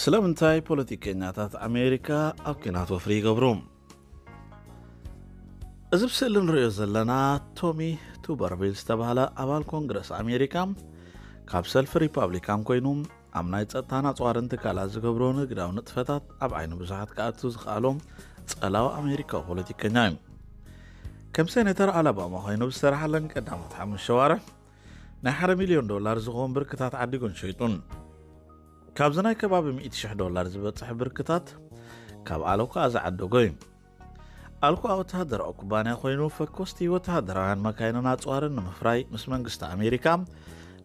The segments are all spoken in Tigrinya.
ስለምንታይ ፖለቲከኛታት ኣሜሪካ ኣብ ኲናት ወፍሪ ይገብሩ? እዚ ብስእሊ ንሪኦ ዘለና ቶሚ ቱበርቪል ዝተባህለ ኣባል ኮንግረስ ኣሜሪካ፣ ካብ ሰልፊ ሪፓብሊካን ኮይኑ ኣብ ናይ ጸጥታን ኣጽዋርን ትካላት ዝገብሮ ንግዳዊ ንጥፈታት ኣብ ዓይኒ ብዙሓት ክኣቱ ዝኸኣሎ ጸላዊ ኣሜሪካዊ ፖለቲከኛ እዩ። ከም ሴኔተር ኣላባማ ኮይኑ ብዝሰራሓለን ቀዳሞት ሓሙሽተ ኣዋርሕ ናይ ሓደ ሚልዮን ዶላር ዝኸውን ብርክታት ዓዲጉን ሸይጡን። ካብዚ ናይ ከባቢ ሚእቲ ሽሕ ዶላር ዝበጽሕ ብርክታት ካብ ኣልኮኣ ዝዓደጎ እዩ። ኣልኮኣ ወተሃደራዊ ኩባንያ ኮይኑ፣ ፈኮስቲ ወተሃደራውያን መካይንን ኣጽዋርን ንምፍራይ ምስ መንግስቲ ኣሜሪካ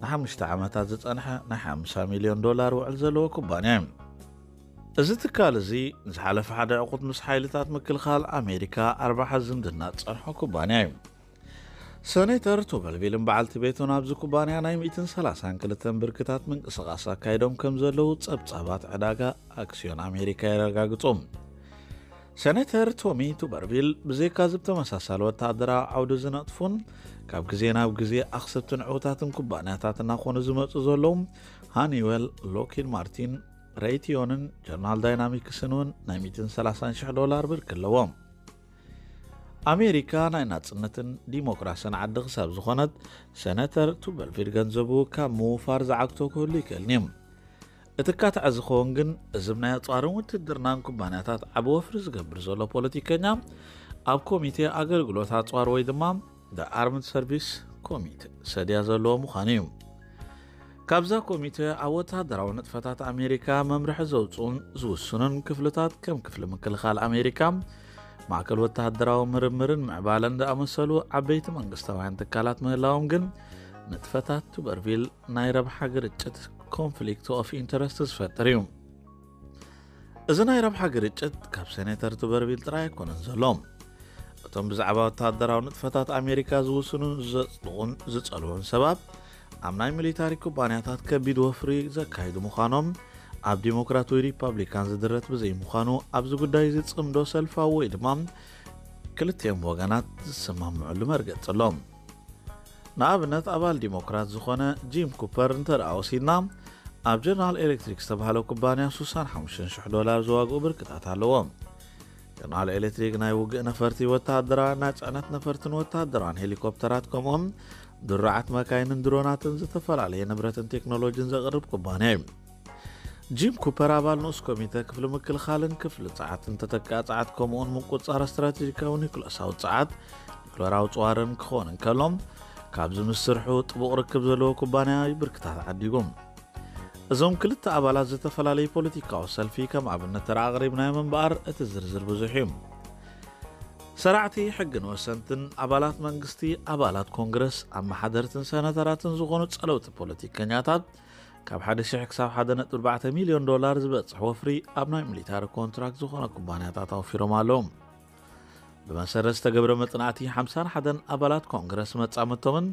ንሓሙሽተ ዓመታት ዝጸንሐ ናይ ሓምሳ ሚልዮን ዶላር ውዕል ዘለዎ ኩባንያ እዩ። እዚ ትካል እዚ ንዝሓለፈ ሓደ ዕቑት ምስ ሓይልታት ምክልኻል ኣሜሪካ ኣርባሓ ዝምድና ዝጸንሖ ኩባንያ እዩ። ሰኔተር ቱበርቪልን በዓልቲ ቤቱን ኣብዚ ኩባንያ ናይ ሚእትን ሰላሳን ክልተን ብርክታት ምንቅስቓስ ኣካይዶም ከም ዘለዉ ጸብጻባት ዕዳጋ ኣክስዮን ኣሜሪካ የረጋግጹ። ሰኔተር ቶሚ ቱበርቪል ብዘይካ እዚ ብተመሳሳሊ ወተሃደራዊ ዓውዲ ዝነጥፉን ካብ ግዜ ናብ ግዜ ኣኽሰብትን ዕዉታትን ኩባንያታት እናኾኑ ዝመጹ ዘለዉ ሃኒዌል፣ ሎኪድ ማርቲን፣ ሬይትዮንን ጀነራል ዳይናሚክስን እውን ናይ ሚእትን ሰላሳን ሽሕ ዶላር ብርኪ ኣለዎም። ኣሜሪካ ናይ ናጽነትን ዲሞክራስን ዓዲ ክሳብ ዝኾነት፣ ሰነተር ቱበርቪል ገንዘቡ ካብ ምውፋር ዝዓግቶ ክህሉ ይክእልን እዩ። እቲ ካትዐ ዝኸውን ግን፣ እዚ ናይ ኣጽዋርን ውትድርናን ኩባንያታት ዓቢ ወፍሪ ዝገብር ዘሎ ፖለቲከኛ፣ ኣብ ኮሚቴ ኣገልግሎት ኣጽዋር ወይ ድማ The Armed Service ኮሚቴ ሰድያ ዘለዎ ምዃኑ እዩ። ካብዛ ኮሚቴ ኣብ ወተሃደራዊ ንጥፈታት ኣሜሪካ መምርሒ ዘውጽኡን ዝውስኑን ክፍልታት፣ ከም ክፍሊ ምክልኻል ኣሜሪካ፣ ማእከል ወተሃደራዊ ምርምርን ምዕባለን ዝኣመሰሉ ዓበይቲ መንግስታውያን ትካላት ምህላዎም ግን፣ ንጥፈታት ቱበርቪል ናይ ረብሓ ግርጭት፣ ኮንፍሊክት ኦፍ ኢንተረስት፣ ዝፈጥር እዩ። እዚ ናይ ረብሓ ግርጭት ካብ ሴኔተር ቱበርቪል ጥራይ ኣይኮነን ዘሎ። እቶም ብዛዕባ ወተሃደራዊ ንጥፈታት ኣሜሪካ ዝውስኑን ዘጽድቑን ዝጸልዉን ሰባት፣ ኣብ ናይ ሚሊታሪ ኩባንያታት ከቢድ ወፍሪ ዘካይዱ ምዃኖም፣ ኣብ ዲሞክራት ወይ ሪፓብሊካን ዝድረት ብዘይምዃኑ፣ ኣብዚ ጉዳይ እዚ ጽምዶ ሰልፋዊ ወይ ድማ ክልቲኦም ወገናት ዝሰማምዑሉ መርገጺ ኣሎ። ንኣብነት፣ ኣባል ዲሞክራት ዝኾነ ጂም ኩፐር እንተ ደኣ ወሲድና፣ ኣብ ጀነራል ኤሌክትሪክ ዝተባህለ ኩባንያ ስሳን ሓሙሽተን ሽሕ ዶላር ዝዋግኡ ብርክታት ኣለዎ። ጀነራል ኤሌክትሪክ ናይ ውግእ ነፈርቲ፣ ወተሃደራውያን ናይ ጽዕነት ነፈርትን ወተሃደራውያን ሄሊኮፕተራት፣ ከምኡውን ድሩዓት መካይንን ድሮናትን፣ ዝተፈላለየ ንብረትን ቴክኖሎጂን ዘቕርብ ኩባንያ እዩ። ጂም ኩፐር ኣባል ንኡስ ኮሚተ ክፍሊ ምክልኻልን ክፍሊ ጸዓትን ተተካኢ ጸዓት፣ ከምኡውን ምቁጽጻር ስትራቴጂካዊ ኒኩለሳዊ ጸዓት፣ ኒኩለራዊ ጽዋርን ክኸውን እንከሎ፣ ካብዚ ምስ ስርሑ ጥቡቕ ርክብ ዘለዎ ኩባንያ እዩ ብርክታት ዓዲጉ። እዞም ክልተ ኣባላት ዝተፈላለዩ ፖለቲካዊ ሰልፊ ከም ኣብነት ተራ ኣቕሪብናዮም እምበኣር፣ እቲ ዝርዝር ብዙሕ እዩ። ሰራዕቲ ሕግን ወሰንትን፣ ኣባላት መንግስቲ፣ ኣባላት ኮንግረስ፣ ኣመሓደርትን ሰነተራትን ዝኾኑ ጸለውቲ ፖለቲከኛታት፣ ካብ ሓደ ሽሕ ክሳብ ሓደ ነጥቢ ኣርባዕተ ሚልዮን ዶላር ዝበጽሕ ወፍሪ ኣብ ናይ ሚሊታሪ ኮንትራክት ዝኾነ ኩባንያታት ኣውፊሮም ኣለዉ። ብመሰረት ዝተገብረ መጽናዕቲ፣ ሓምሳን ሓደን ኣባላት ኮንግረስ መጻምድቶምን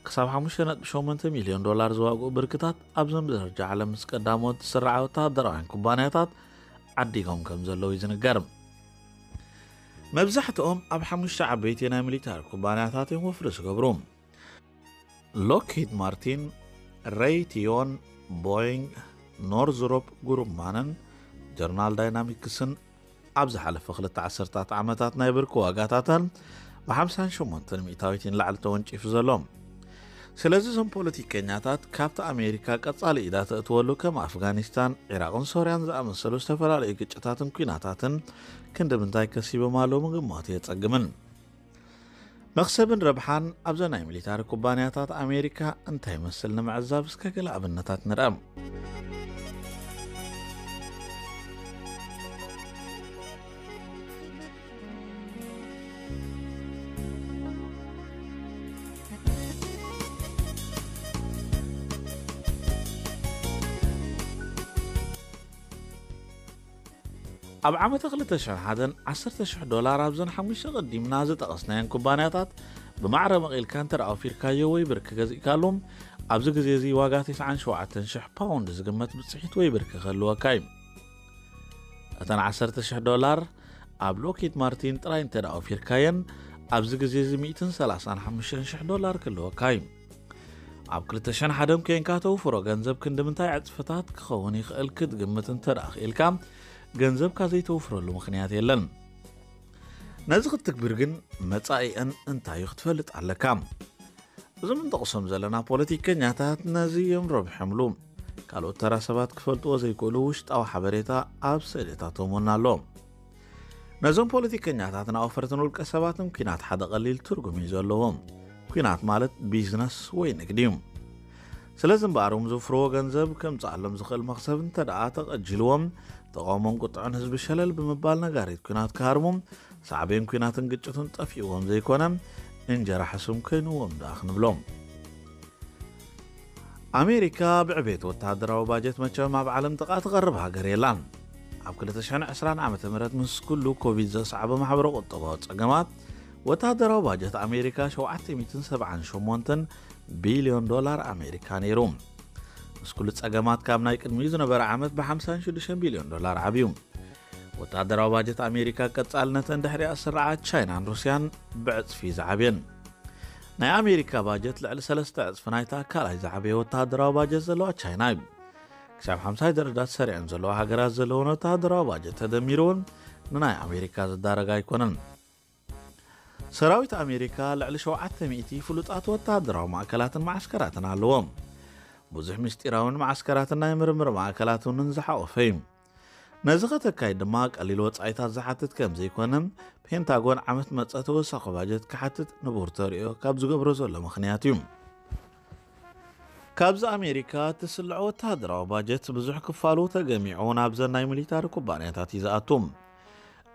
ክሳብ ሓሙሽተ ነጥቢ ሸሞንተ ሚልዮን ዶላር ዝዋግኡ ብርክታት ኣብዞም ብደረጃ ዓለም ምስ ቀዳሞት ዝስርዓ ወተሃደራውያን ኩባንያታት ዓዲጎም ከም ዘለዉ እዩ ዝንገር። መብዛሕትኦም ኣብ ሓሙሽተ ዓበይቲ ናይ ሚሊታሪ ኩባንያታት እዮም ወፍሪ ዝገብሩ። ሎክሂድ ማርቲን፣ ሬይቲዮን፣ ቦይንግ፣ ኖርዝሮፕ ግሩማንን ጀነራል ዳይናሚክስን ኣብ ዝሓለፈ ክልተ ዓሰርታት ዓመታት ናይ ብርኪ ዋጋታተን ብሓምሳን ሸሞንተን ሚእታዊት ንላዕሊ ተወንጪፉ ዘሎ። ስለዚ እዞም ፖለቲከኛታት ካብቲ ኣሜሪካ ቀጻሊ ኢዳ ተእትወሉ ከም ኣፍጋኒስታን፣ ዒራቕን ሶርያን ዝኣመሰሉ ዝተፈላለዩ ግጭታትን ኲናታትን ክንዲ ምንታይ ከሲቦም ኣለዉ ምግማቱ የጸግምን። መኽሰብን ረብሓን ኣብዘን ናይ ሚሊታሪ ኩባንያታት ኣሜሪካ እንታይ ይመስል ንምዕዛብ እስከ ገለ ኣብነታት ንርኣ። ኣብ ዓመተ ክልተ ሽሕን ሓደን ዓሰርተ ሽሕ ዶላር ኣብዘን ሓሙሽተ ቀዲምና ዝጠቐስናየን ኩባንያታት ብማዕረ መቒልካ እንተ ደኣ ኣውፊርካዮ ወይ ብርኪ ገዚእካሉ፣ ኣብዚ ግዜ እዚ ዋጋ ተስዓን ሸውዓተን ሽሕ ፓውንድ ዝግመት ብጽሒት ወይ ብርኪ ክህልወካ እዩ። እተን ዓሰርተ ሽሕ ዶላር ኣብ ሎክሂድ ማርቲን ጥራይ እንተ ደኣ ኣውፊርካየን፣ ኣብዚ ግዜ እዚ ሚእትን ሰላሳን ሓሙሽተን ሽሕ ዶላር ክህልወካ እዩ። ኣብ ክልተ ሽሕን ሓደን ኮንካ ተውፍሮ ገንዘብ ክንዲ ምንታይ ዕጽፍታት ክኸውን ይኽእል ክትግምት እንተ ደኣ ክኢልካ፣ ገንዘብካ ዘይተውፍረሉ ምኽንያት የለን። ነዚ ክትግብር ግን መጻኢአን እንታይ እዩ ክትፈልጥ ኣለካ። እዞም እንጠቕሶም ዘለና ፖለቲከኛታት ነዚ እዮም ረቢሖምሉ። ካልኦት ተራ ሰባት ክፈልጥዎ ዘይክእሉ ውሽጣዊ ሓበሬታ ኣብ ስእልታቶም እውን ኣሎ። ነዞም ፖለቲከኛታትን ኣውፈርትን ውልቀ ሰባትን ኲናት ሓደ ቀሊል ትርጉም እዩ ዘለዎም። ኲናት ማለት ቢዝነስ ወይ ንግዲ እዩ። ስለዚ እምበኣር፣ እም ዝውፍርዎ ገንዘብ ከምጽኣሎም ዝኽእል መኽሰብ እንተ ደኣ ተቐጂልዎም፣ ተቓውሞን ቁጥዐን ህዝቢ ሸለል ብምባል ነጋሪት ኲናት ክሃርሙ፣ ሳዕቤን ኲናትን ግጭቱን ጠፊእዎም ዘይኮነ፣ እንጀራ ሕሱም ኮይንዎም ደኣ ክንብሎም። ኣሜሪካ ብዕቤት ወተሃደራዊ ባጀት መቸም ኣብ ዓለም ጥቓ ትቐርብ ሃገር የላን። ኣብ ክልተ ሽሕን ዕስራን ዓመተ ምህረት ምስ ኩሉ ኮቪድ ዘስዓቦ ማሕበረ ቁጠባዊ ጸገማት፣ ወተሃደራዊ ባጀት ኣሜሪካ ሸውዓተ ሚእትን ሰብዓን ሸሞንተን ቢልዮን ዶላር ኣሜሪካ ነይሩ። ምስ ኩሉ ጸገማት፣ ካብ ናይ ቅድሚኡ ዝነበረ ዓመት ብ ሓምሳን ሽዱሽተን ቢልዮን ዶላር ዓብዩ። ወተሃደራዊ ባጀት ኣሜሪካ ቀጻልነተን ድሕሪኣ ዝስርዓ ቻይናን ሩስያን ብዕጽፊ ዝዓብየን። ናይ ኣሜሪካ ባጀት ልዕሊ ሰለስተ ዕጽፊ ናይታ ካልኣይ ዝዓበየ ወተሃደራዊ ባጀት ዘለዋ ቻይና እዩ። ክሳብ ሓምሳይ ደረጃ ሰሪዐን ዘለዋ ሃገራት ዘለውን ወተሃደራዊ ባጀት ተደሚሩ እውን ንናይ ኣሜሪካ ዝዳረግ ኣይኮነን። ሰራዊት ኣሜሪካ ልዕሊ ሸውዓተ ሚእቲ ፍሉጣት ወተሃደራዊ ማእከላትን መዓስከራትን ኣለዎም። ብዙሕ ምስጢራውን መዓስከራትን ናይ ምርምር ማእከላት እውን ዝሓቆፈ እዩ። ነዚ ከተካይድ ድማ ቀሊል ወጻኢታት ዝሓትት ከም ዘይኮነ፣ ፔንታጎን ዓመት መጸ ተወሳኺ ባጀት ክሓትት ንቡር ተርእዮ ካብ ዝገብሮ ዘሎ ምኽንያት እዩ። ካብዚ ኣሜሪካ እትስልዖ ወተሃደራዊ ባጀት ብዙሕ ክፋሉ ተገሚዑ ናብዘን ናይ ሚሊታሪ ኩባንያታት እዩ ዝኣቱ።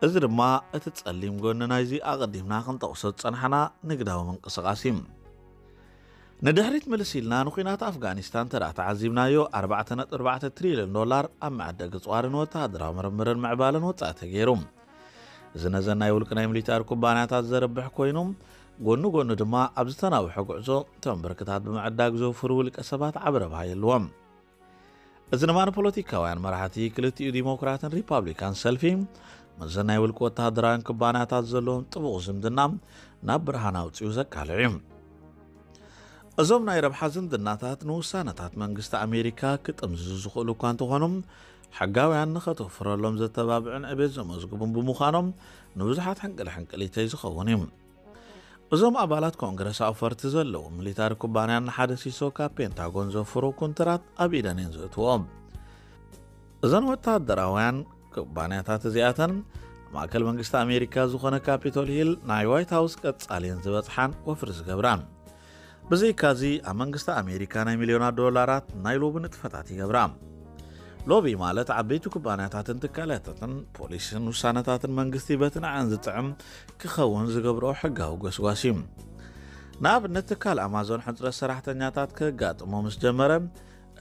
እዚ ድማ እቲ ጸሊም ጎኒ ናይዚ ኣቐዲምና ክንጠቕሶ ዝጸናሕና ንግዳዊ ምንቅስቓስ እዩ። ንድሕሪት ምልስ ኢልና ንኲናት ኣፍጋኒስታን እንተ ደኣ ተዓዚብናዮ፣ ኣርባዕተ ነጥቢ ኣርባዕተ ትሪልዮን ዶላር ኣብ መዐደጊ ጽዋርን ወተሃደራዊ ምርምርን ምዕባለን ወጻኢ ተገይሩ። እዚ ነዘን ናይ ውልቂ ናይ ሚሊታሪ ኩባንያታት ዘርብሕ ኮይኑ፣ ጎኑ ጎኑ ድማ ኣብ ዝተናውሐ ጉዕዞ እቶም ብርክታት ብምዕዳግ ዘውፍሩ ውልቀ ሰባት ዓቢ ረብሃ የልዎም። እዚ ድማ ንፖለቲካውያን መራሕቲ ክልቲኡ ዲሞክራትን ሪፓብሊካን ሰልፊ፣ ምስዘን ናይ ውልቂ ወተሃደራውያን ኩባንያታት ዘለዎም ጥቡቕ ዝምድና ናብ ብርሃን ኣውጺኡ ዘቃልዕ እዩ። እዞም ናይ ረብሓ ዝምድናታት ንውሳነታት መንግስቲ ኣሜሪካ ክጥምዝዙ ዝኽእሉ እኳ እንተኾኑ፣ ሕጋውያን ንኸተውፍረሎም ዘተባብዑን ዕቤት ዘመዝግቡን ብምዃኖም፣ ንብዙሓት ሕንቅል ሕንቅሊተይ ዝኸውን እዩ። እዞም ኣባላት ኮንግረስ ኣውፈርቲ ዘለዎም ሚሊታሪ ኩባንያን ንሓደ ሲሶ ካብ ፔንታጎን ዘፍሩ ኩንትራት ኣብ ኢደን እየን ዘእትዎም። እዘን ወተሃደራውያን ኩባንያታት እዚኣተን፣ ማእከል መንግስቲ ኣሜሪካ ዝኾነ ካፒቶል ሂል፣ ናይ ዋይት ሃውስ ቀጻሊ እየን ዝበጽሓን ወፍሪ ዝገብራን። ብዘይካዚ፣ ኣብ መንግስቲ ኣሜሪካ ናይ ሚልዮናት ዶላራት ናይ ሎቢ ንጥፈታት ይገብራ። ሎቢ ማለት ዓበይቲ ኩባንያታትን ትካላታትን ፖሊሲን ውሳነታትን መንግስቲ በቲ ንዐን ዝጥዕም ክኸውን ዝገብርኦ ሕጋዊ ጎስጓስ እዩ። ንኣብነት፣ ትካል ኣማዞን ሕጽረት ሰራሕተኛታት ከጋጥሞ ምስ ጀመረ፣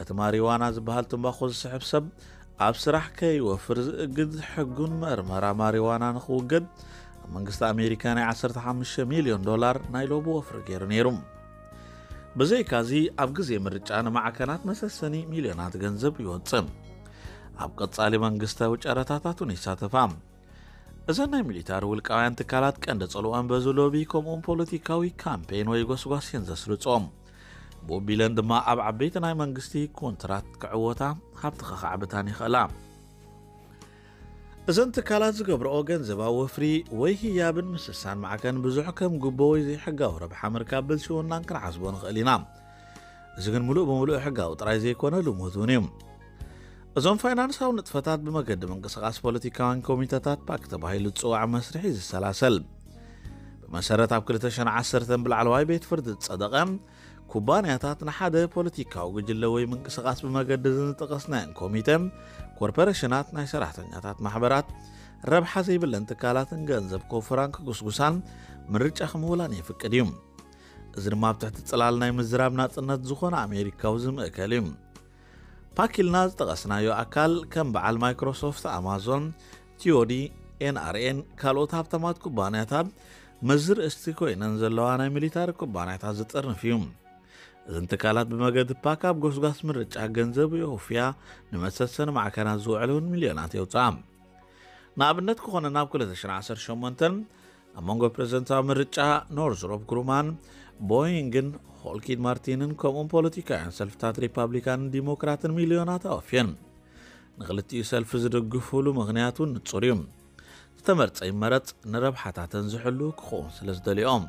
እቲ ማሪዋና ዝበሃል ትንባኾ ዝስሕብ ሰብ ኣብ ስራሕ ከይወፍር ዝእግድ ሕጉን መርመራ ማሪዋና ንኽውገድ፣ ኣብ መንግስቲ ኣሜሪካ ናይ ዓሰርተ ሓሙሽተ ሚልዮን ዶላር ናይ ሎቢ ወፍሪ ገይሩ ነይሩ። ብዘይካዚ፣ ኣብ ግዜ ምርጫ ንማዕከናት መሰሰኒ ሚልዮናት ገንዘብ ይወጽእ። ኣብ ቀጻሊ መንግስታዊ ጨረታታት እውን ይሳተፋ። እዘን ናይ ሚሊታሪ ውልቃውያን ትካላት ቀንዲ ጽልወን በዚ ሎቢ ከምኡውን ፖለቲካዊ ካምፔን ወይ ጎስጓስ እየን ዘስርጾ። ብኡ ቢለን ድማ ኣብ ዓበይቲ ናይ መንግስቲ ኮንትራት ክዕወታ፣ ሃብቲ ከኻዕብታን ይኽእላ። እዘን ትካላት ዝገብርኦ ገንዘባዊ ወፍሪ ወይ ህያብን ምስሳን ማዕከን ብዙሕ ከም ጉቦ ወይ ዘይሕጋዊ ረብሓ ምርካብ ብልሽውናን ክንሓስቦ ንኽእል ኢና። እዚ ግን ምሉእ ብምሉእ ሕጋዊ ጥራይ ዘይኮነ ልሙድ እውን እዩ። እዞም ፋይናንሳዊ ንጥፈታት ብመገዲ ምንቅስቓስ ፖለቲካውያን ኮሚተታት ፓክ ተባሂሉ ዝጽዋዕ መስርሕ እዩ ዝሰላሰል። ብመሰረት ኣብ ክልተ ሽሕን ዓሰርተን ብላዕለዋይ ቤት ፍርዲ ዝጸደቐ፣ ኩባንያታት ንሓደ ፖለቲካዊ ጉጅለ ወይ ምንቅስቓስ ብመገዲ ዝንጠቐስናየን ኮሚተ፣ ኮርፖሬሽናት፣ ናይ ሰራሕተኛታት ማሕበራት፣ ረብሓ ዘይብለን ትካላትን ገንዘብ ከውፍራን ክጉስጉሳን ምርጫ ክምውላን የፍቅድ እዩ። እዚ ድማ ኣብ ትሕቲ ጽላል ናይ ምዝራብ ናጽነት ዝኾነ ኣሜሪካዊ ዝምእከል እዩ። ፓክ ኢልና ዝጠቐስናዮ ኣካል ከም በዓል ማይክሮሶፍት፣ ኣማዞን፣ ቲኦዲ፣ ኤንኣርኤን ካልኦት ሃብታማት ኩባንያታት መዚ ርእስቲ ኮይነን ዘለዋ ናይ ሚሊታሪ ኩባንያታት ዝጥርንፍ እዩ። እዘን ትካላት ብመገዲ ፓክ ኣብ ጎስጓስ ምርጫ ገንዘብ የውፍያ፣ ንመሰሰኒ ማዕከናት ዝውዕል እውን ሚልዮናት የውፅኣ። ንኣብነት ክኾነና ኣብ ክልተ ሽሕን ዓሰርተ ሸሞንተን ኣብ መንጎ ፕሬዝደንታዊ ምርጫ ኖርዝሮፕ ግሩማን ቦይንግን ሆልኪድ ማርቲንን ከምኡን ፖለቲካውያን ሰልፍታት ሪፓብሊካንን ዲሞክራትን ሚልዮናት ኣወፍየን። ንክልቲኡ ሰልፊ ዝድግፉሉ ምኽንያት እውን ንጹር እዩ። ዝተመርጸ ይመረጽ፣ ንረብሓታተን ዝሕሉ ክኸውን ስለ ዝደልዮም።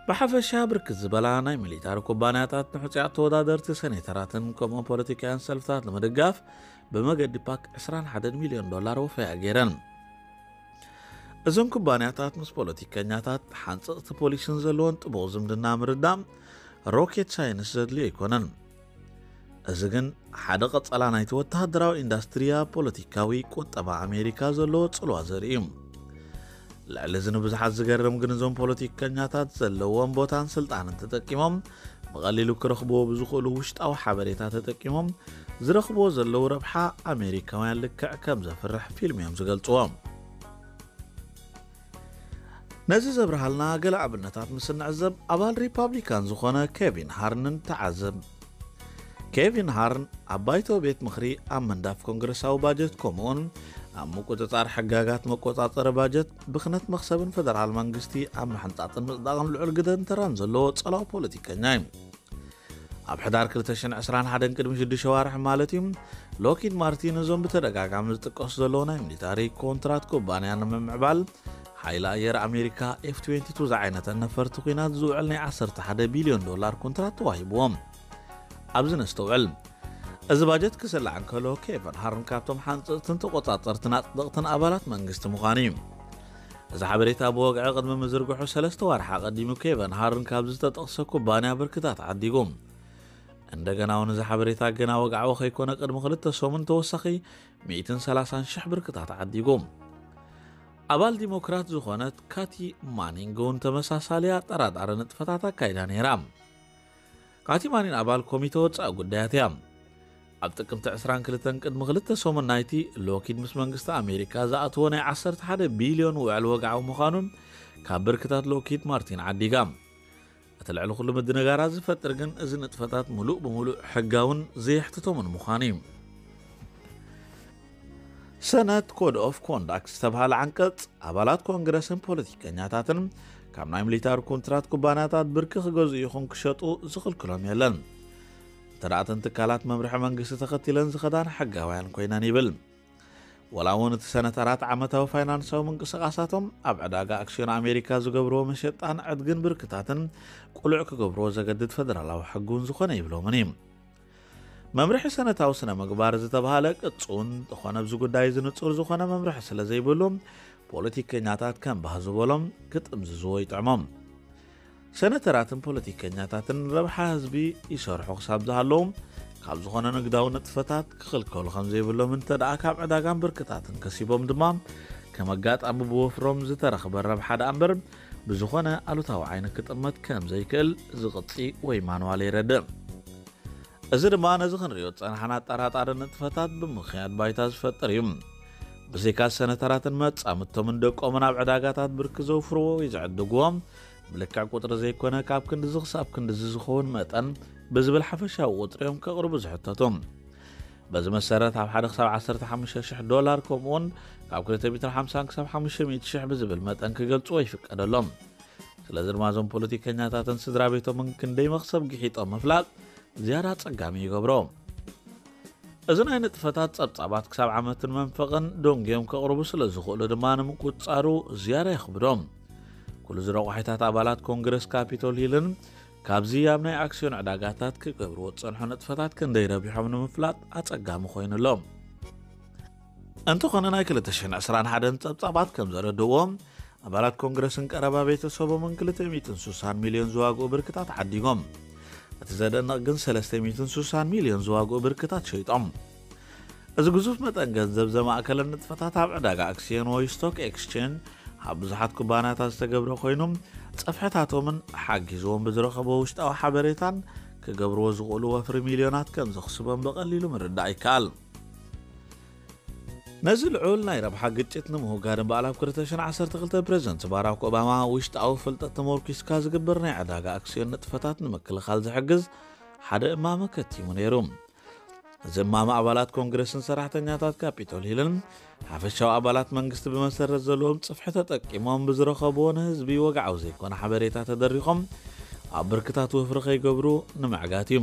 ብሓፈሻ ብርክት ዝበላ ናይ ሚሊታሪ ኩባንያታት ንሕጹያት ተወዳደርቲ ሰኔተራትን ከምኡን ፖለቲካውያን ሰልፍታት ንምድጋፍ ብመገዲ ፓክ ዕስራን ሓደን ሚልዮን ዶላር ወፈያ ገይረን። እዞን ኩባንያታት ምስ ፖለቲከኛታት ሓንጸጽቲ ፖሊሲን ዘለዎን ጥቡቕ ዝምድና ምርዳእ ሮኬት ሳይንስ ዘድልዮ ኣይኮነን። እዚ ግን ሓደ ቀጸላ ናይቲ ወተሃደራዊ ኢንዳስትሪ ኣብ ፖለቲካዊ ቁጠባ ኣሜሪካ ዘለዎ ጽልዋ ዘርኢ እዩ። ልዕሊ እዚ ንብዙሓት ዝገርም ግን እዞም ፖለቲከኛታት ዘለዎም ቦታን ስልጣንን ተጠቂሞም ብቐሊሉ ክረኽብዎ ብዝኽእሉ ውሽጣዊ ሓበሬታ ተጠቂሞም ዝረኽብዎ ዘለዉ ረብሓ ኣሜሪካውያን ልክዕ ከም ዘፍርሕ ፊልም እዮም ዝገልጽዎ። ነዚ ዘብርሃልና ገለ ኣብነታት ምስ እንዕዘብ ኣባል ሪፓብሊካን ዝኾነ ኬቪን ሃርንን ተዓዘብ። ኬቪን ሃርን ኣብ ባይቶ ቤት ምኽሪ ኣብ ምንዳፍ ኮንግረሳዊ ባጀት ከምኡውን ኣብ ምቁጽጻር ሕጋጋት መቆጻጸሪ ባጀት ብኽነት መኽሰብን ፈደራል መንግስቲ ኣብ ምሕንጻጽን ምጽዳቕን ልዑል ግደን ተራን ዘለዎ ጸላዊ ፖለቲከኛ እዩ። ኣብ ሕዳር ክልተ ሽሕን ዕስራን ሓደን ቅድሚ ሽዱሽተ ዋርሒ ማለት እዩ፣ ሎኪድ ማርቲን እዞም ብተደጋጋሚ ዝጥቀሱ ዘለዉ ናይ ሚሊታሪ ኮንትራት ኩባንያ ንምምዕባል ሓይሊ ኣየር ኣሜሪካ ኤፍ ትዌንቲ ቱ ዝዓይነተን ነፈርቲ ኲናት ዝውዕል ናይ ዓሰርተ ሓደ ቢልዮን ዶላር ኮንትራት ተዋሂብዎም። ኣብዚ ነስተውዕል። እዚ ባጀት ክስላዕ እንከሎ ኬቨን ሃርን ካብቶም ሓንጽጽትን ተቆጻጸርትን ኣጽደቕትን ኣባላት መንግስቲ ምዃኑ እዩ። እዚ ሓበሬታ ብወግዒ ቅድሚ ምዝርግሑ ሰለስተ ዋርሓ ቀዲሙ ኬቨን ሃርን ካብ ዝተጠቕሰ ኩባንያ ብርክታት ዓዲጉ። እንደገና እውን እዚ ሓበሬታ ገና ወግዓዊ ከይኮነ ቅድሚ ክልተ ሰሙን ተወሳኺ ሚእትን ሰላሳን ሽሕ ብርክታት ዓዲጉ። ኣባል ዲሞክራት ዝኾነት ካቲ ማኒንግ እውን ተመሳሳሊ ኣጠራጣሪ ንጥፈታት ኣካይዳ ነይራ። ካቲ ማኒን ኣባል ኮሚተ ወጻኢ ጉዳያት እያ። ኣብ ጥቅምቲ ዕስራን ክልተን ቅድሚ ክልተ ሰሙን ናይቲ ሎኪድ ምስ መንግስቲ ኣሜሪካ ዝኣትዎ ናይ ዓሰርተ ሓደ ቢልዮን ውዕል ወግዓዊ ምዃኑ ካብ ብርክታት ሎኪድ ማርቲን ዓዲጋ። እቲ ልዕሊ ኩሉ ምድንጋራት ዝፈጥር ግን እዚ ንጥፈታት ምሉእ ብምሉእ ሕጋውን ዘየሕትቶምን ምዃኑ እዩ። ሰነት ኮድ ኦፍ ኮንዳክት ዝተብሃለ ዓንቀጽ ኣባላት ኮንግረስን ፖለቲከኛታትን ካብ ናይ ሚሊታሪ ኮንትራት ኩባንያታት ብርኪ ክገዝኡ ይኹን ክሸጡ ዝኽልክሎም የለን። እንተ ደኣ እተን ትካላት መምርሒ መንግስቲ ተኸቲለን ዝኸዳን ሕጋውያን ኮይነን ይብል። ወላ እውን እቲ ሰነተራት ዓመታዊ ፋይናንሳዊ ምንቅስቓሳቶም ኣብ ዕዳጋ ኣክስዮን ኣሜሪካ ዝገብርዎ መሸጣን ዕድግን ብርክታትን ቁሉዕ ክገብርዎ ዘገድድ ፈደራላዊ ሕጊ እውን ዝኾነ ይብሎምን እዩ። መምርሒ ሰነታዊ ስነ ምግባር ዝተባህለ ቅጹን ዝኾነ ኣብዚ ጉዳይ እዚ ንጹር ዝኾነ መምርሒ ስለ ዘይብሉ ፖለቲከኛታት ከም ባህ ዝበሎም ክጥምዝዝዎ ይጥዕሞም። ሰነተራትን ፖለቲከኛታትን ረብሓ ህዝቢ ይሰርሑ ክሳብ ዝሃለዉ ካብ ዝኾነ ንግዳዊ ንጥፈታት ክኽልከሉ ከም ዘይብሎም እንተ ደኣ ካብ ዕዳጋን ብርክታትን ከሲቦም ድማ ከም ኣጋጣሚ ብወፍሮም ዝተረኽበ ረብሓ ደኣ እምበር ብዝኾነ ኣሉታዊ ዓይኒ ክጥመት ከም ዘይክእል ዝቕጺ ወይ ማንዋል የረድእ። እዚ ድማ ነዚ ክንሪኦ ዝጸናሕና ኣጠራጣሪ ንጥፈታት ብምኽያድ ባይታ ዝፈጥር እዩ። ብዘይካ ሰነተራትን መጻምድቶምን ደቆምን ኣብ ዕዳጋታት ብርኪ ዘውፍርዎ ወይ ዝዕድግዎ ብልክዕ ቁጽሪ ዘይኮነ ካብ ክንድዚ ክሳብ ክንድዚ ዝኸውን መጠን ብዝብል ሓፈሻዊ ቁጽሪ እዮም ከቕርቡ ዝሕተቱ። በዚ መሰረት ኣብ ሓደ ክሳብ ዓሰርተ ሓሙሽተ ሽሕ ዶላር ከምኡውን ካብ ክልተ ሚእትን ሓምሳን ክሳብ ሓሙሽተ ሚእቲ ሽሕ ብዝብል መጠን ክገልጽዎ ይፍቀደሎም። ስለዚ ድማ እዞም ፖለቲከኛታትን ስድራ ቤቶምን ክንደይ መኽሰብ ግሒጦም ምፍላጥ ዝያዳ ኣጸጋሚ ይገብሮ። እዚ ናይ ንጥፈታት ጸብጻባት ክሳብ ዓመትን መንፈቕን ደንጉዮም ከቕርቡ ስለ ዝኽእሉ ድማ ንምቁጽጻሩ ዝያዳ የኽብዶም። ኩሉ እዚ ረቋሒታት ኣባላት ኮንግረስ ካፒቶል ሂልን ካብዚ ኣብ ናይ ኣክስዮን ዕዳጋታት ክገብርዎ ዝጸንሑ ንጥፈታት ክንደይ ረቢሖም ንምፍላጥ ኣጸጋሚ ኮይኑ ኣሎ። እንተኾነ ናይ ክልተ ሽሕን ዕስራን ሓደን ጸብጻባት ከም ዘረድእዎ ኣባላት ኮንግረስን ቀረባ ቤተሰቦምን ክልተ ሚእትን ስሳን ሚልዮን ዝዋግኡ ብርክታት ዓዲጎም። እቲ ዘደንቕ ግን ሰለስተ ሚእትን ስሳን ሚልዮን ዝዋግኡ ብርክታት ሸይጦም። እዚ ግዙፍ መጠን ገንዘብ ዘማእከለ ንጥፈታት ኣብ ዕዳጋ ኣክስዮን ወይ ስቶክ ኤክስቼንጅ ኣብ ብዙሓት ኩባንያታት ዝተገብረ ኮይኑ ጸፍሕታቶምን ሓጊዝዎም ብዝረኸቦ ውሽጣዊ ሓበሬታን ክገብርዎ ዝኽእሉ ወፍሪ ሚልዮናት ከም ዘኽስቦም ብቐሊሉ ምርዳእ ይከኣል። ነዚ ልዑል ናይ ረብሓ ግጭት ንምውጋድ እምበኣል ኣብ ክልተ ሽሕን ዓሰርተ ክልተ ፕሬዝደንት ባራክ ኦባማ ውሽጣዊ ፍልጠት ተመርኪስካ ዝግበር ናይ ዕዳጋ ኣክስዮን ንጥፈታት ንምክልኻል ዝሕግዝ ሓደ እማመ ከቲሙ ነይሩ። እዚ እማመ ኣባላት ኮንግረስን ሰራሕተኛታት ካፒቶል ሂልን ሓፈሻዊ ኣባላት መንግስቲ ብመሰረት ዘለዎም ጽፍሒ ተጠቂሞም ብዝረኸብዎ ንህዝቢ ወግዓዊ ዘይኮነ ሓበሬታ ተደሪኾም ኣብ ብርክታት ወፍሪ ከይገብሩ ንምዕጋት እዩ።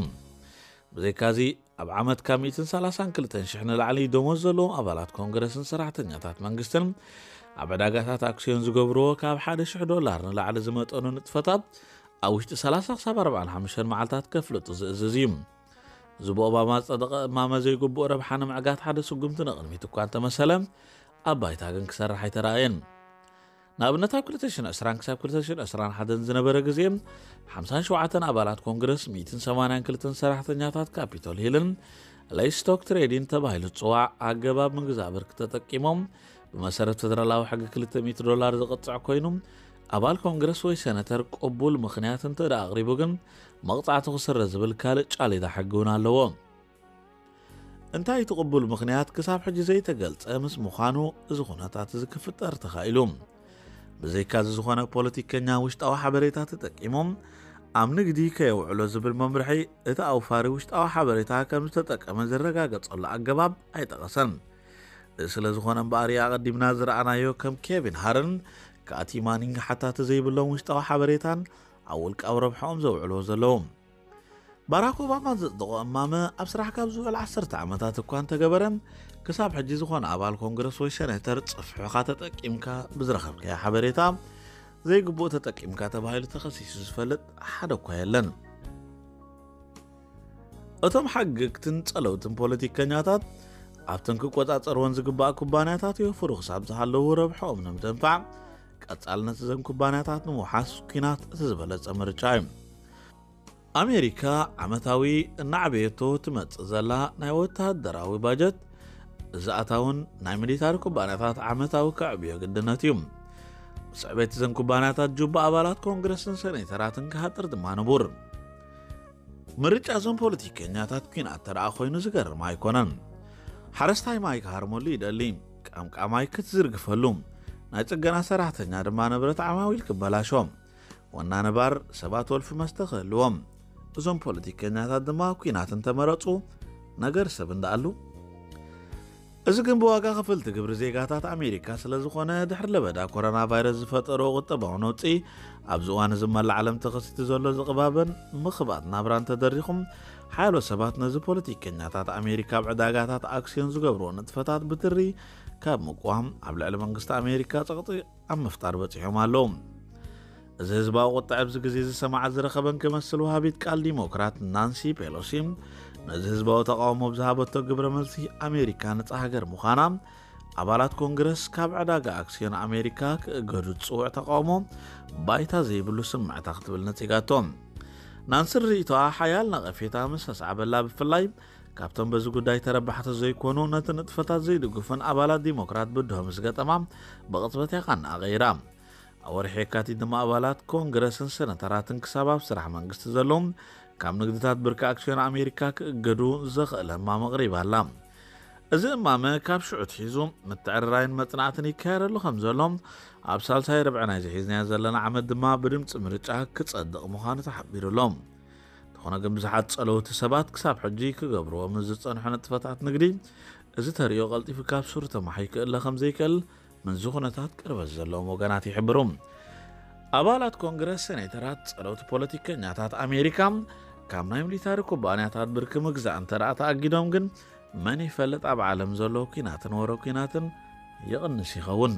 ብዘይካዚ ኣብ ዓመት ካብ ሚእትን ሰላሳን ክልተን ሽሕ ንላዕሊ ደሞዝ ዘለዎም ኣባላት ኮንግረስን ሰራሕተኛታት መንግስትን ኣብ ዕዳጋታት ኣክስዮን ዝገብርዎ ካብ ሓደ ሽሕ ዶላር ንላዕሊ ዝመጠኑ ንጥፈታት ኣብ ውሽጢ ሰላሳ ክሳብ ኣርባዓን ሓሙሽተን መዓልታት ከፍልጡ ዝእዝዝ እዩ። እዚ ብኦባማ ዝጸደቐ እማመ ዘይግቡእ ረብሓ ንምዕጋት ሓደ ስጉምቲ ንቕድሚት እኳ እንተመሰለ ኣብ ባይታ ግን ክሰርሕ ኣይተራእየን። ንኣብነት ኣብ ክልተ ሽሕን ዕስራን ክሳብ ክልተ ሽሕን ዕስራን ሓደን ዝነበረ ግዜ ሓምሳን ሸውዓተን ኣባላት ኮንግረስ ሚእትን ሰማንያን ክልተን ሰራሕተኛታት ካፒቶል ሂልን ለይስቶክ ትሬዲን ተባሂሉ ዝጽዋዕ ኣገባብ ምግዛእ ብርኪ ተጠቂሞም ብመሰረት ፈደራላዊ ሕጊ ክልተ ሚእቲ ዶላር ዝቕጽዕ ኮይኑ ኣባል ኮንግረስ ወይ ሰነተር ቅቡል ምኽንያት እንተ ደኣ ኣቕሪቡ ግን መቕጻዕቱ ክስረ ዝብል ካልእ ጫሌዳ ሕጊ እውን ኣለዎ። እንታይ እቲ ቅቡል ምኽንያት ክሳብ ሕጂ ዘይተገልጸ ምስ ምዃኑ እዚ ኩነታት እዚ ክፍጠር ተኻኢሉ። ብዘይካዚ ዝኾነ ፖለቲከኛ ውሽጣዊ ሓበሬታ ተጠቂሞም ኣብ ንግዲ ከየውዕሎ ዝብል መምርሒ እቲ ኣውፋሪ ውሽጣዊ ሓበሬታ ከም ዝተጠቀመ ዝረጋገጸሉ ኣገባብ ኣይጠቐሰን። እዚ ስለ ዝኾነ እምበኣር ኣቐዲምና ዝረኣናዮ ከም ኬቪን ሃርን ካቲ ማኒንግ ሓታቲ ዘይብሎም ውሽጣዊ ሓበሬታን ኣብ ውልቃዊ ረብሓኦም ዘውዕልዎ ዘለዉ። ባራክ ኦባማ ዘጽደቖ እማመ ኣብ ስራሕ ካብ ዝውዕል ዓሰርተ ዓመታት እኳ እንተገበረ ክሳብ ሕጂ ዝኾነ ኣባል ኮንግረስ ወይ ሰኔተር ጽፍሕኻ ተጠቂምካ ብዝረኸብካዮ ሓበሬታ ዘይግቡእ ተጠቂምካ ተባሂሉ ተኸሲሱ ዝፈልጥ ሓደ እኳ የለን። እቶም ሓግግትን ጸለውትን ፖለቲከኛታት ኣብተን ክቆጻጸርወን ዝግባእ ኩባንያታት የወፍሩ ክሳብ ዝሃለዉ ረብሖኦም ንምድንፋዕ ቀጻልነት እዘን ኩባንያታት ንምውሓስ ኲናት እቲ ዝበለጸ ምርጫ እዩ። ኣሜሪካ ዓመታዊ እናዕበየቶ ትመጽእ ዘላ ናይ ወተሃደራዊ ባጀት እዚ ኣታውን ናይ ሚሊታሪ ኩባንያታት ዓመታዊ ከዕብዮ ግድነት እዩ። ስዕቤት እዘን ኩባንያታት ጁባ ኣባላት ኮንግረስን ሰኔተራትን ክሃጥር ድማ ንቡር። ምርጫ እዞም ፖለቲከኛታት ኲናት ተረኣ ኮይኑ ዝገርም ኣይኮነን። ሓረስታይ ማይ ክሃርመሉ ይደሊ፣ ቀምቃማይ ክትዝርግፈሉ፣ ናይ ጽገና ሰራሕተኛ ድማ ንብረት ዓማዊል ክበላሾ፣ ወና ነባር ሰባት ወልፊ መስተ ክህልዎም። እዞም ፖለቲከኛታት ድማ ኲናት እንተመረጹ ነገር ሰብ እንዳኣሉ። እዚ ግን ብዋጋ ክፍልቲ ግብሪ ዜጋታት ኣሜሪካ ስለ ዝኾነ ድሕሪ ለበዳ ኮሮና ቫይረስ ዝፈጠሮ ቁጠባዊ ነውጺ ኣብዚ እዋን እዚ መላ ዓለም ተኸሲቱ ዘሎ ዝቕባበን ምኽባጥ ናብራን ተደሪኹም ሓያሎ ሰባት ነዚ ፖለቲከኛታት ኣሜሪካ ኣብ ዕዳጋታት ኣክስዮን ዝገብርዎ ንጥፈታት ብትሪ ካብ ምቋም ኣብ ልዕሊ መንግስቲ ኣሜሪካ ጸቕጢ ኣብ ምፍጣር በጺሖም ኣለዉ። እዚ ህዝባዊ ቁጥዐ ኣብዚ ግዜ ዝሰማዓ ዝረኸበን ክመስል ወሃቢት ቃል ዲሞክራት ናንሲ ፔሎሲ ነዚ ህዝባዊ ተቃውሞ ብዝሃበቶ ግብረ መልሲ ኣሜሪካ ነጻ ሃገር ምዃና ኣባላት ኮንግረስ ካብ ዕዳጋ ኣክስዮን ኣሜሪካ ክእገዱ ዝጽውዕ ተቃውሞ ባይታ ዘይብሉ ስምዕታ ክትብል ነጺጋቶ። ናንሲ ርእይቶኣ ሓያል ነቐፌታ ምስ ኣስዓበላ ብፍላይ ካብቶም በዚ ጉዳይ ተረባሕቲ ዘይኮኑ ነቲ ንጥፈታት ዘይድግፉን ኣባላት ዲሞክራት ብድሆ ምስ ገጠማ ብቕጽበት እያ ቃንኣ ቀይራ። ኣብ ወርሒ የካቲት ድማ ኣባላት ኮንግረስን ሰነተራትን ክሳብ ኣብ ስራሕ መንግስቲ ዘለዉ ካብ ንግድታት ብርኪ ኣክስዮን ኣሜሪካ ክእገዱ ዘኽእል እማመ ኣቕሪባ ኣላ። እዚ እማመ ካብ ሽዑ ትሒዙ ምትዕርራይን መጽናዕትን ይካየደሉ ከም ዘሎ ኣብ ሳልሳይ ርብዒ ናይ ዝሒዝናዮ ዘለና ዓመት ድማ ብድምፂ ምርጫ ክጸድቕ ምዃኑ ተሓቢሩ ኣሎ። እንተኾነ ግን ብዙሓት ጸለውቲ ሰባት ክሳብ ሕጂ ክገብርዎ ምስ ዝጸንሑ ንጥፈታት ንግዲ እዚ ተርእዮ ቀልጢፉ ካብ ሱር ተማሒ ክእለ ከም ዘይክእል ምንዚ ኩነታት ቅርበት ዘለዎም ወገናት ይሕብሩ። ኣባላት ኮንግረስ ሰኔተራት ጸለውቲ ፖለቲከኛታት ኣሜሪካ ካብ ናይ ሚሊታሪ ኩባንያታት ብርኪ ምግዛእ እንተ ደኣ ተኣጊዶም ግን መን ይፈልጥ ኣብ ዓለም ዘሎ ኲናትን ወረ ኲናትን ይቕንስ ይኸውን።